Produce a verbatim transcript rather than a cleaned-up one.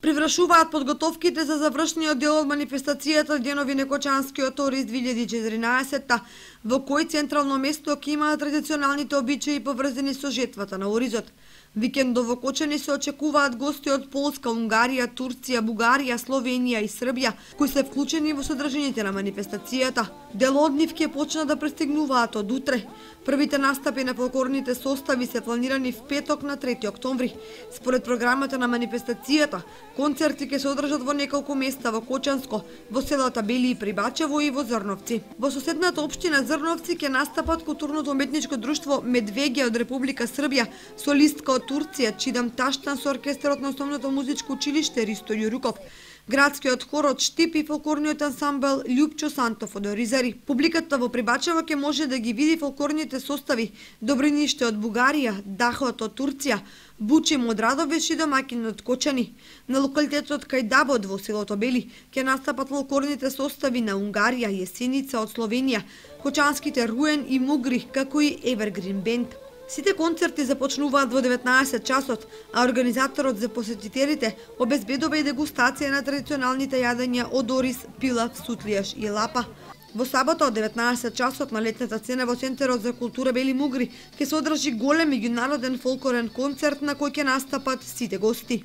Привршуваат подготовките за завршниот дел од манифестацијата Денови некочанскиот Орис две илјади и четиринаесетта, во кој централно место ќе имаат традиционалните обичаи поврзани со жетвата на Оризот. Викендов во Кочани се очекуваат гости од Полска, Унгарија, Турција, Бугарија, Словенија и Србија, кои се вклучени во содржините на манифестацијата. Дел од нив ќе почнат да пристигнуваат од утре. Првите настапи на фолклорните состави се планирани в петок на трети октомври. Според програмата на манифестацијата, концерти ќе се одржат во неколку места во Кочанско, во селата Бели и Прибачево и во Зрновци. Во соседната општина Зрновци ќе настапат културно-уметничко друштво Медвеѓа од Република Србија, солистка од Турција Чидам Таштан со оркестерот на основното музичко училиште Ристо Јуруков, градскиот хор од Штип и фолклорниот ансамбл Љупчо Сантов од Оризари. Публиката во Прибачево ќе може да ги види фолклорните состави Добриниште од Бугарија, Дахот од Турција, Бучим од Радовиш и домаќин од Кочани. На локалитетот Кајдабод во селото Бели ќе настапат фолклорните состави на Унгарија, Јесеница од Словенија, кочанските Руен и Мугри, како и Евергрин Бенд. Сите концерти започнуваат во деветнаесет часот, а организаторот за посетителите обезбедува и дегустација на традиционалните јадења од Орис, пилав, сутлијаш и лапа. Во сабота од деветнаесет часот на летната сцена во Центарот за култура Бели Мугри ќе се одржи голем меѓународен фолклорен концерт на кој ќе настапат сите гости.